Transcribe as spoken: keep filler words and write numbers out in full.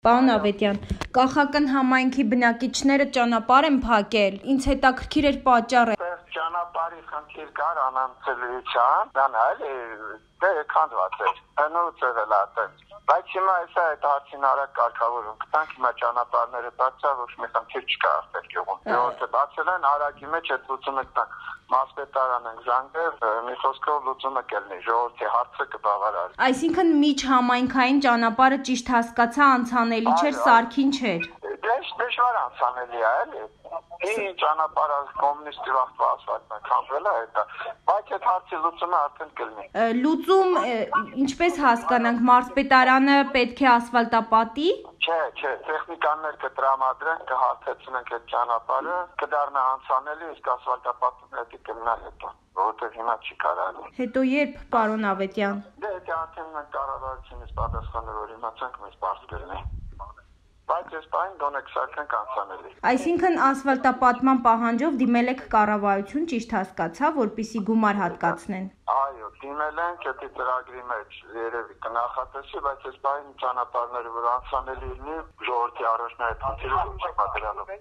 Պարոն Ավետյան, Կախական համայնքի բնակիչները ճանապարհ են փակել, ինձ հետաքրքիր էր պատճառը։ Ճանապարհի խնդիր կար անանցելիության, դան այլ դե քանդված էր, հնուց եղել ատեն։ Բայց հիմա հեսա այդ հարցին արագ կարգավորում կտանք, հիմա ճանապարհները բացա, ոչ մի խնդիր չկա արդեն գյուղում։ Ժողովուրդը բացել են, արագի մեջ այդ լուծումը կտանք, մասպետարան են զանգել, մի խոսքով լուծումը կլինի, ժողովրդի հարցը կբավարարի։ Այսինքն միջհամայնքային ճանապարհը ճիշտ հասկացա անցանելի չէր, սարքին չէր։ Դժվար անցանելի է, էլի։ Ինչ ճանապարհը կոմունիստի վաղվա ասֆալտն քանդվել է, դա, բայց այդ հարցի լուծումը արդեն կլինի։ Լուծում ինչպես հասկանանք, մարզպետարանը պետք է ասֆալտապատի։ Չէ, չէ, տեխնիկաններ կտրամադրեն, կհարթեցնենք այդ ճանապարհը, կդառնա անցանելի, իսկ ասֆալտապատումը պետք է կմնա հետո, որովհետև հիմա չի կարելի։ Հետո երբ, պարոն Ավետյան։ Դե դա արդեն մենք կառավարությունից պատասխանը որ իմացանք, մեզ բարձ կլինի։ Բայց այս պահին դոնեք սարքենք անցանելի։ Այսինքն ասֆալտապատման պահանջով դիմել եք կառավարություն, ճիշտ հասկացա, որպեսզի գումար հատկացնեն։ Այո, դիմել ենք, դա ծրագրի մեջ երևի կնախատեսի, բայց այս պահին ճանապարհները որ անցանելի լինի, ժողովրդի առաջնահերթ խնդիրը լուծի պատրանով։